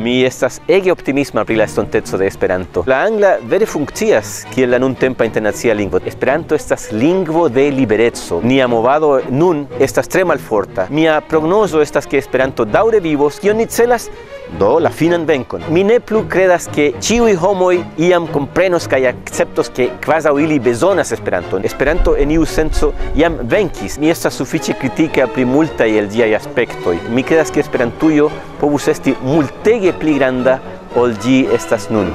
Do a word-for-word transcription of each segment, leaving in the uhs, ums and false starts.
Mi estas ege optimisma pri la estonteco de Esperanto. La angla vere funkcias kiel la nuntempa internacia lingvo. Esperanto estas lingvo de libereco. Nia movado nun estas tre malforta. Mia prognozo estas, ke Esperanto daŭre vivos. Kion ni celas? Do, la finan venkon. Mi ne plu kredas, ke ĉiuj homoj iam komprenos kaj akceptos, ke kvazaŭ ili bezonas Esperanton. Esperanto en iu senco jam venkis. Mi estas sufiĉe kritika pri multaj el ĝiaj aspektoj. Mi kredas, ke Esperantujo povus esti multege pli granda ol ĝi estas nun.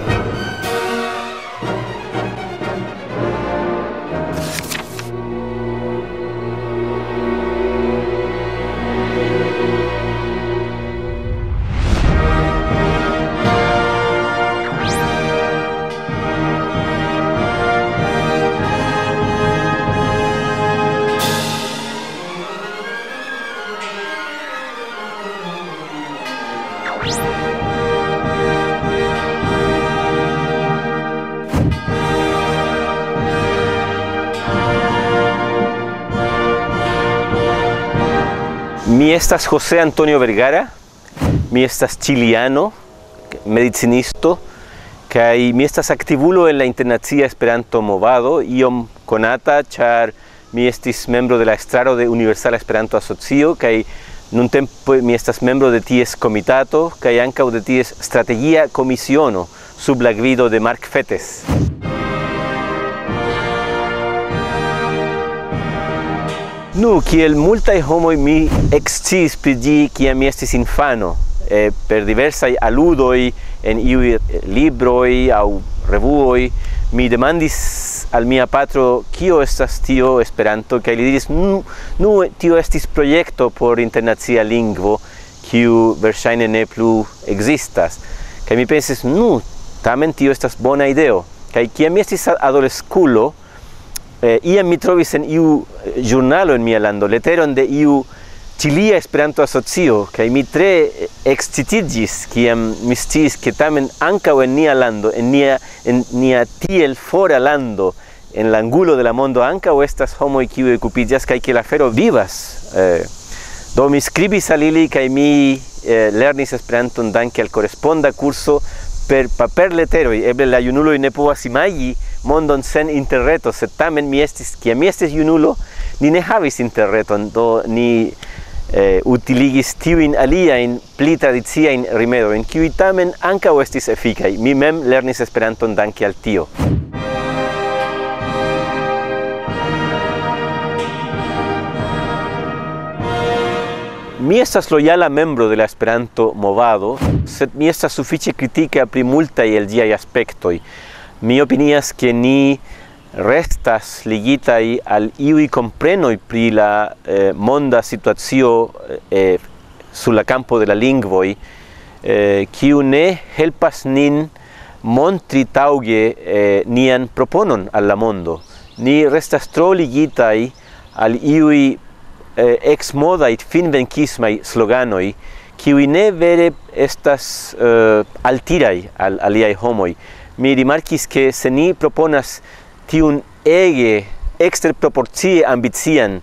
Mi estas José Antonio Vergara, mi estas chiliano, medicinisto, kaj mi estas aktivulo en la internacia Esperanto-movado, iom konata, ĉar mi estis membro de la estraro de Universala Esperanto-Asocio, kaj nuntempe mi estas membro de ties komitato, kaj ankaŭ de ties strategia komisiono sub la gvido de Mark Fettes. Nu, kiel multaj homoj, mi eksciis pri ĝi, kiam mi estis infano, eh, per diversaj aludoj en iuj, eh, libroj aŭ revuoj. Mi demandis al mia patro, "Kio estas tio Esperanto?" Kaj li diris, "Nu, nu, tio estis projekto por internacia lingvo, kiu verŝajne ne plu ekzistas." Kaj mi pensis, "Nu, tamen tio estas bona ideo." Kaj kiam mi estis a-, adoleskulo, eh, iam mi trovis en iu, eh, ĵurnalo en mia lando leteron de iu Ĉilia Esperanto-Asocio, kaj mi tre, eh, ekscitiĝis, kiam mi sciis, ke tamen ankaŭ en nia lando, en nia, en nia tiel fora lando, en la angulo de la mondo, ankaŭ estas homoj, kiuj okupiĝas, kaj ke la afero vivas. Eh, do mi skribis al ili, kaj mi, eh, lernis Esperanton danke al koresponda kurso per paperleteroj. Eble la junuloj ne povas imagi mondon sen interreto, sed tamen mi estis, kiam mi estis junulo, ni ne havis interreton, do ni, eh, utiligis tiujn aliajn pli tradiciajn rimedojn, kiuj tamen ankaŭ estis efikaj. Mi mem lernis Esperanton danke al tio. Mi estas lojala membro de la Esperanto-movado, sed mi estas sufiĉe kritika pri multaj el ĝiaj aspektoj. Mi opinias, ke ni restas ligitaj al iuj komprenoj pri la, eh, monda situacio, eh, sur la kampo de la lingvoj, eh, kiu ne helpas nin montri taŭge, eh, nian proponon al la mondo. Ni restas tro ligitaj al iuj, eh, eksmodaj finvenkismaj sloganoj, kiuj ne vere estas, eh, altiraj al aliaj homoj. Mi rimarkis, ke se ni proponas tiun ege eksterproporcie ambician,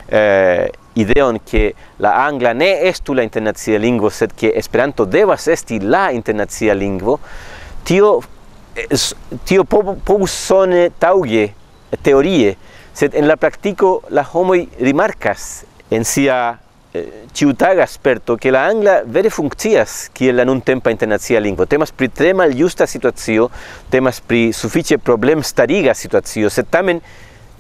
eh, ideon, ke la angla ne estu la internacia lingvo, sed ke Esperanto devas esti la internacia lingvo, tio, es-, tio po-, povus sone taŭge teorie, sed en la praktiko la homoj rimarkas en sia, eh, ĉiutaga sperto, ke la angla vere funkcias kiel la nuntempa internacia lingvo. Temas pri tre maljusta situacio, temas pri sufiĉe problemstariga situacio, sed tamen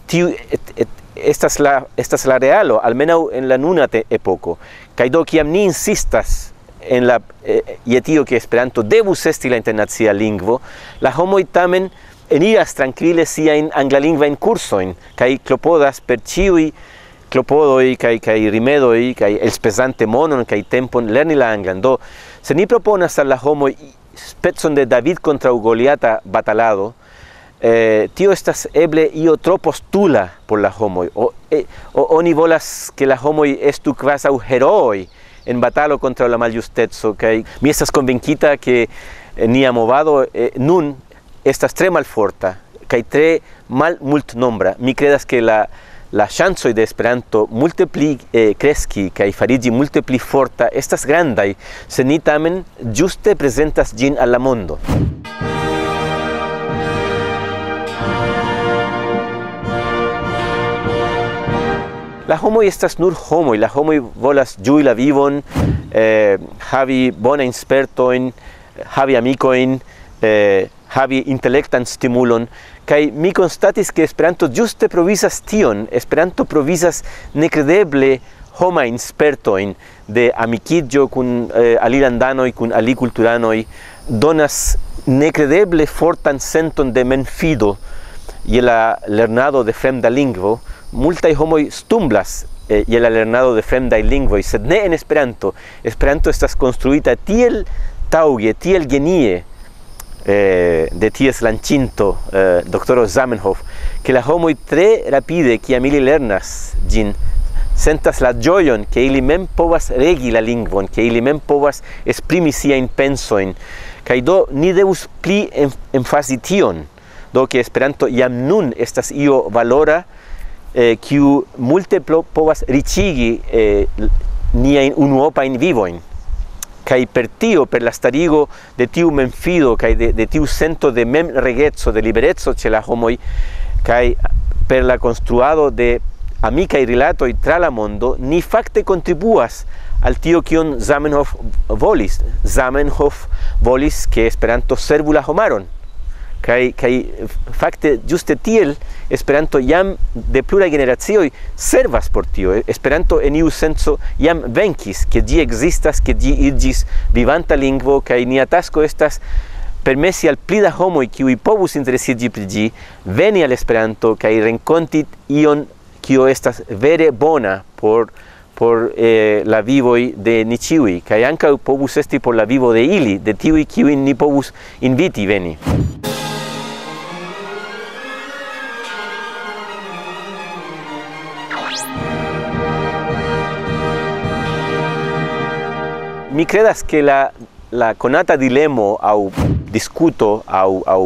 tiu et-, et-, estas la, estas la realo, almenaŭ en la nuna te-, epoko. Kaj do, kiam ni insistas en la, eh, je tio, ke Esperanto devus esti la internacia lingvo, la homoj tamen eniras trankvile siajn anglalingvajn kursojn, kaj klopodas per ĉiuj klopodoj kaj, kaj rimedoj, kaj elspezante monon kaj tempon, lerni la anglan. Do, se ni proponas al la homoj specon de David kontraŭ Goliata batalado, eh, tio estas eble io tro postula por la homoj. O, eh, o, oni volas, ke la homoj estu kvazaŭ herooj en batalo kontraŭ la maljusteco, kaj mi estas konvinkita, ke, eh, nia movado, eh, nun estas tre malforta kaj tre malmultnombra. Mi kredas, ke la, La ŝancoj de Esperanto multe pli eh, kreski kaj fariĝi multe pli forta estas grandaj, se ni tamen ĝuste prezentas ĝin al la mondo. La homoj estas nur homoj, la homoj volas ĝui la vivon, eh, havi bonajn spertojn, havi amikojn, eh, havi intelektan stimulon. Kaj mi konstatis, ke Esperanto ĝuste provizas tion. Esperanto provizas nekredeble homajn spertojn de amikiĝo kun eh, alilandanoj, kun alikulturanoj, donas nekredeble fortan senton de memfido je la lernado de fremda lingvo. Multaj homoj stumblas eh, je la lernado de fremdaj lingvoj, sed ne en Esperanto. Esperanto estas konstruita tiel taŭge, tiel genie eh, de ties lanĉinto, eh, doktoro Zamenhof, ke la homoj tre rapide, kiam ili lernas ĝin, sentas la ĝojon, ke ili mem povas regi la lingvon, ke ili mem povas esprimi siajn pensojn. Kaj do ni devus pli em- emfazi tion, do ke Esperanto jam nun estas io valora, eh, kiu multe plo- povas riĉigi eh, niajn unuopajn vivojn. Kaj per tio, per la starigo de tiu memfido kaj de, de tiu sento de memregeco, de libereco ĉe la homoj, kaj per la konstruado de amikaj rilatoj tra la mondo, ni fakte kontribuas al tio, kion Zamenhof volis. Zamenhof volis, ke Esperanto servu la homaron. Kaj, kaj fakte ĝuste tiel Esperanto jam de pluraj generacioj servas por tio. Esperanto en iu senco jam venkis, ke ĝi ekzistas, ke ĝi iĝis vivanta lingvo, kaj nia tasko estas permesi al pli da homoj, kiuj povus interesiĝi pri ĝi, veni al Esperanto kaj renkonti ion, kio estas vere bona por, por eh, la vivoj de ni ĉiuj, kaj ankaŭ povus esti por la vivo de ili, de tiuj, kiujn ni povus inviti veni. Mi kredas, ke la, la konata dilemo aŭ diskuto aŭ, aŭ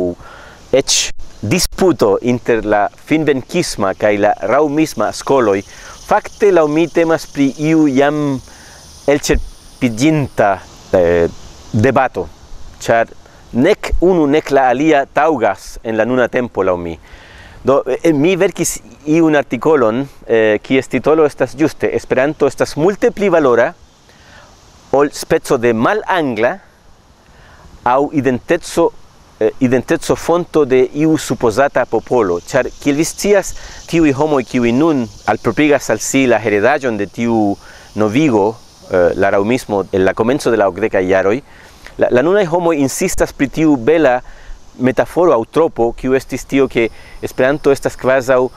eĉ disputo inter la finvenkisma kaj la raŭmisma skoloj fakte laŭ mi temas pri iu jam elĉerpiĝinta eh, debato, ĉar nek unu nek la alia taŭgas en la nuna tempo laŭ mi. Do, eh, mi verkis iun artikolon, eh, kies titolo estas ĝuste: Esperanto estas multe pli valora ol speco de malangla aŭ identeco, eh, identeco fonto de iu supozata popolo. Ĉar, kiel vi scias, tiuj homoj, kiuj nun alproprigas al si la heredaĵon de tiu novigo, eh, la raŭmismo, en la komenco de la okdekaj jaroj, la, la nunaj homoj insistas pri tiu bela metaforo aŭ tropo, kiu estis tio, ke Esperanto estas kvazaŭ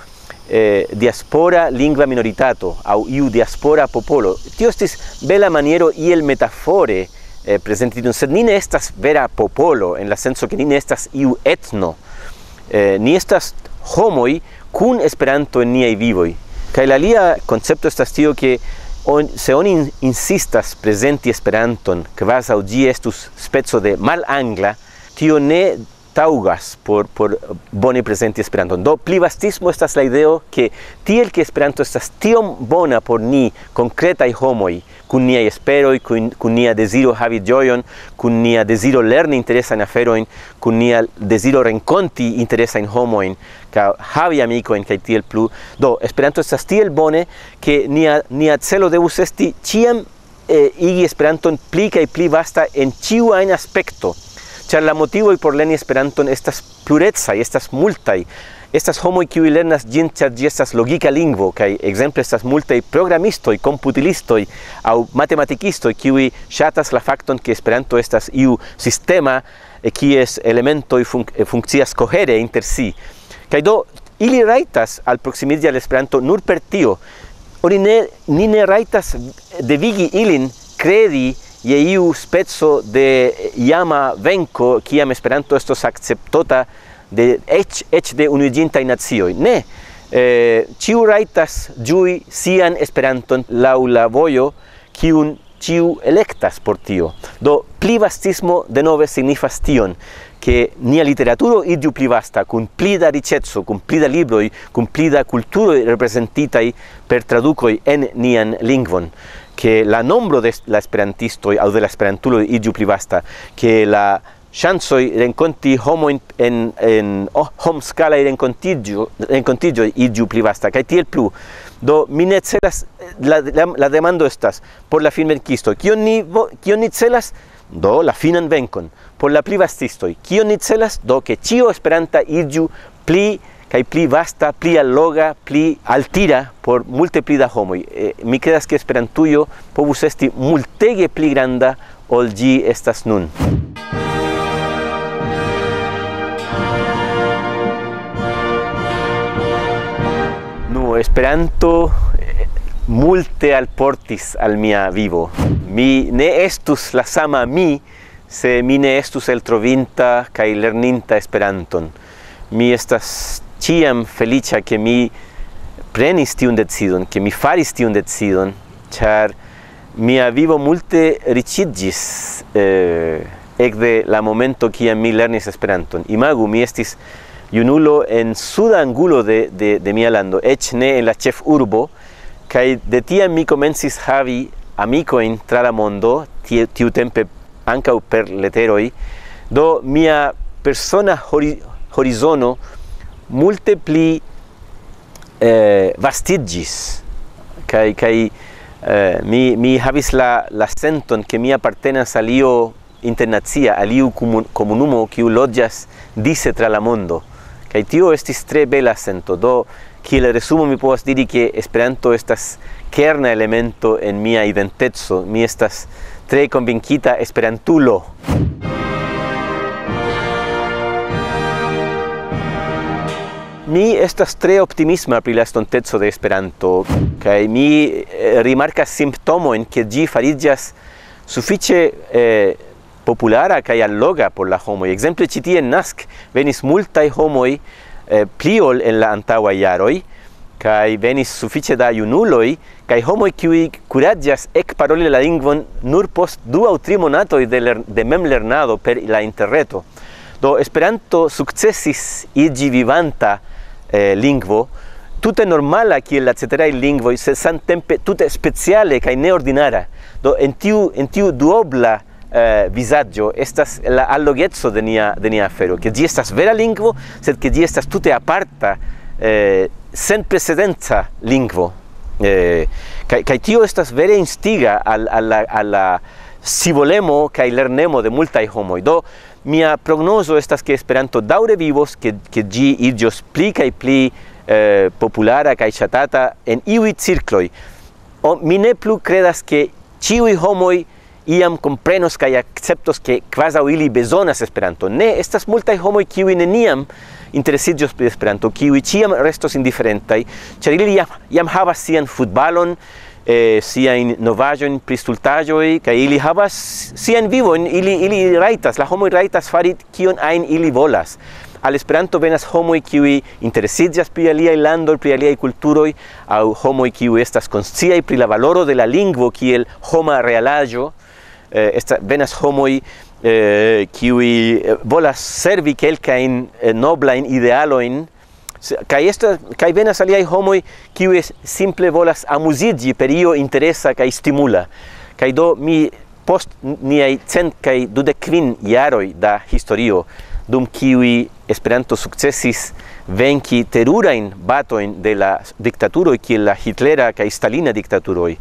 eh, diaspora lingva minoritato aŭ iu diaspora popolo. Tio estis bela maniero iel metafore eh, prezenti tion, sed ni ne estas vera popolo en la senco, ke ni ne estas iu etno. Eh, ni estas homoj kun Esperanto en niaj vivoj. Kaj la alia koncepto estas tio, ke on, se oni in- insistas prezenti Esperanton kvazaŭ ĝi estus speco de malangla, tio ne taŭgas por, por bone prezenti Esperanton. Do, plivastismo estas la ideo, ke tiel ke Esperanto estas tiom bona por ni, konkretaj homoj, kun niaj esperoj, kun, kun nia deziro havi ĝojon, kun nia deziro lerni interesajn aferojn, kun nia deziro renkonti interesajn homojn, kaj havi amikojn kaj tiel plu. Do, Esperanto estas tiel bone, ke nia, nia celo devus esti ĉiam eh, igi Esperanton pli kaj pli vasta en ĉiu ajn aspekto, ĉar la motivoj por lerni Esperanton estas plurecaj, estas multaj. Estas homoj, kiuj lernas ĝin, ĉar ĝi estas logika lingvo, kaj ekzemple estas multaj programistoj, komputilistoj aŭ matematikistoj, kiuj ŝatas la fakton, ke Esperanto estas iu sistema, eh, kies elementoj fun- eh, funkcias kohere inter si. Kaj do, ili rajtas alproksimiĝi al Esperanto nur per tio. Oni ne, ni ne rajtas devigi ilin kredi je iu speco de jama venko, kiam Esperanto estos akceptota de eĉ, eĉ de Unuiĝintaj Nacioj. Ne, eh, ĉiu rajtas ĝui sian Esperanton laŭ la vojo, kiun ĉiu elektas por tio. Do, plivastismo denove signifas tion, ke nia literaturo iĝu pli vasta, kun pli da riĉeco, kun pli da libroj, kun pli da kulturoj reprezentitaj per tradukoj en nian lingvon, ke la nombro de la esperantistoj aŭ de la esperantuloj iĝu pli vasta, ke la ŝancoj renkonti homojn en, en oh, homskalaj renkontiĝo-, renkontiĝoj iĝu pli vasta, kaj tiel plu. Do, mi ne celas, la, la, la demando estas, por la finvenkisto, kion ni, vo-, kion ni celas? Do, la finan venkon. Por la plivastistoj, kion ni celas? Do, ke ĉio esperanta iĝu pli kaj pli vasta, pli alloga, pli altira por multe pli da homoj. Eh, mi kredas, ke Esperantujo povus esti multege pli granda ol ĝi estas nun. Nu, Esperanto, eh, multe alportis al mia vivo. Mi ne estus la sama mi, se mi ne estus eltrovinta kaj lerninta Esperanton. Mi estas ĉiam feliĉa, ke mi prenis tiun decidon, ke mi faris tiun decidon, ĉar mia vivo multe riĉiĝis, eh, ekde la momento, kiam mi lernis Esperanton. Imagu, mi estis junulo en suda angulo de, de, de mia lando, eĉ ne en la ĉefurbo, kaj de tiam mi komencis havi amikojn tra la mondo, tie-, tiutempe ankaŭ per leteroj. Do, mia persona hori-, horizono multe pli, eh, vastiĝis, kaj, kaj, eh, mi, mi havis la, la senton, ke mi apartenas al io internacia, al iu komun-, komunumo, kiu loĝas dise tra la mondo. Kaj tio estis tre bela sento. Do, kiel resumo, mi povas diri, ke Esperanto estas kerna elemento en mia identeco. Mi estas tre konvinkita esperantulo. Mi estas tre optimisma pri la estonteco de Esperanto, kaj mi, eh, rimarkas simptomojn, ke ĝi fariĝas sufiĉe, eh, populara kaj alloga por la homoj. Ekzemple, ĉi tie en Nask venis multaj homoj, eh, pli ol en la antaŭaj jaroj, kaj venis sufiĉe da junuloj, kaj homoj, kiuj kuraĝas ekparoli la lingvon nur post du aŭ tri monatoj de ler-, de memlernado per la interreto. Do, Esperanto sukcesis iĝi vivanta, eh, lingvo, tute normala kiel la ceteraj lingvoj, sed samtempe tute speciale kaj neordinara. Do, en tiu, en tiu duobla, eh, vizaĝo estas la allogeco de nia, de nia afero, ke ĝi estas vera lingvo, sed ke ĝi estas tute aparta, eh, senprecedenca lingvo. Eh, kaj, kaj tio estas vere instiga al, al la, al la scivolemo kaj lernemo de multaj homoj. Do, mia prognozo estas, ke Esperanto daŭre vivos, ke, ke ĝi iĝos pli kaj pli, eh, populara kaj ŝatata en iuj cirkloj. O, mi ne plu kredas, ke ĉiuj homoj iam komprenos kaj akceptos, ke kvazaŭ ili bezonas Esperanto. Ne, estas multaj homoj, kiuj neniam interesiĝos pri Esperanto, kiuj ĉiam restos indiferentaj, ĉar ili jam, jam havas sian futbalon, eh, siajn novaĵojn pri stultaĵoj, kaj ili havas sian vivon, ili, ili rajtas, la homoj rajtas fari kion ajn ili volas. Al Esperanto venas homoj, kiuj interesiĝas pri aliaj landoj, pri aliaj kulturoj, aŭ homoj, kiuj estas konsciaj pri la valoro de la lingvo kiel homa realaĵo. Eh, esta-, venas homoj, eh, kiuj, eh, volas servi kelkajn, eh, noblajn idealojn. Se-, kaj esta-, kaj venas aliaj homoj, kiuj es-, simple volas amuziĝi per io interesa kaj stimula. Kaj do mi post niaj cent kaj dudek kvin jaroj da historio, dum kiuj Esperanto sukcesis venki terurajn batojn de la diktaturoj, kiel la hitlera kaj stalina diktaturoj,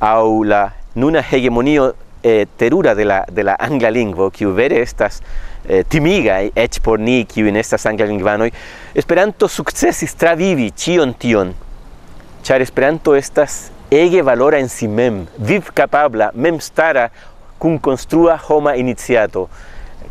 aŭ la nuna hegemonio, eh, terura de la, de la angla lingvo, kiu vere estas, eh, timiga, eĉ por ni, kiuj ne estas anglalingvanoj, Esperanto sukcesis travivi ĉion tion, ĉar Esperanto estas ege valora en si mem, vivkapabla, memstara, kunkonstrua homa iniciato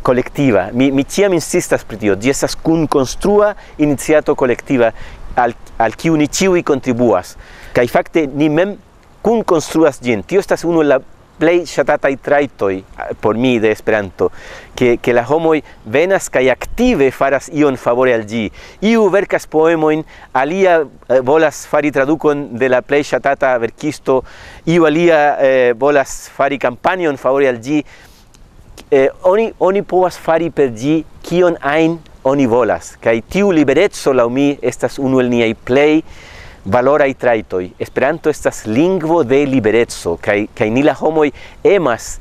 kolektiva. Mi, mi ĉiam insistas pri tio. Ĝi estas kunkonstrua iniciato kolektiva al, al kiu ni ĉiuj kontribuas. Kaj fakte ni mem kunkonstruas ĝin. Tio estas unu el la plej ŝatataj trajtoj, eh, por mi de Esperanto, ke, ke la homoj venas kaj aktive faras ion favore al ĝi. Iu verkas poemojn, alia, eh, volas fari tradukon de la plej ŝatata verkisto, iu alia, eh, volas fari kampanjon favore al ĝi. Eh, oni, oni povas fari per ĝi kion ajn oni volas, kaj tiu libereco laŭ mi estas unu el niaj plej valoraj trajtoj. Esperanto estas lingvo de libereco, kaj, kaj ni la homoj emas,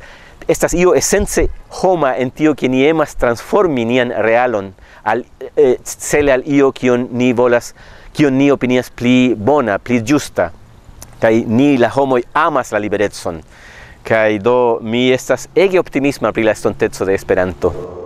estas io esence homa en tio, ke ni emas transformi nian realon al, eh, cele al io kion ni volas, kion ni opinias pli bona, pli ĝusta. Kaj ni la homoj amas la liberecon. Kaj do mi estas ege optimisma pri la estonteco de Esperanto.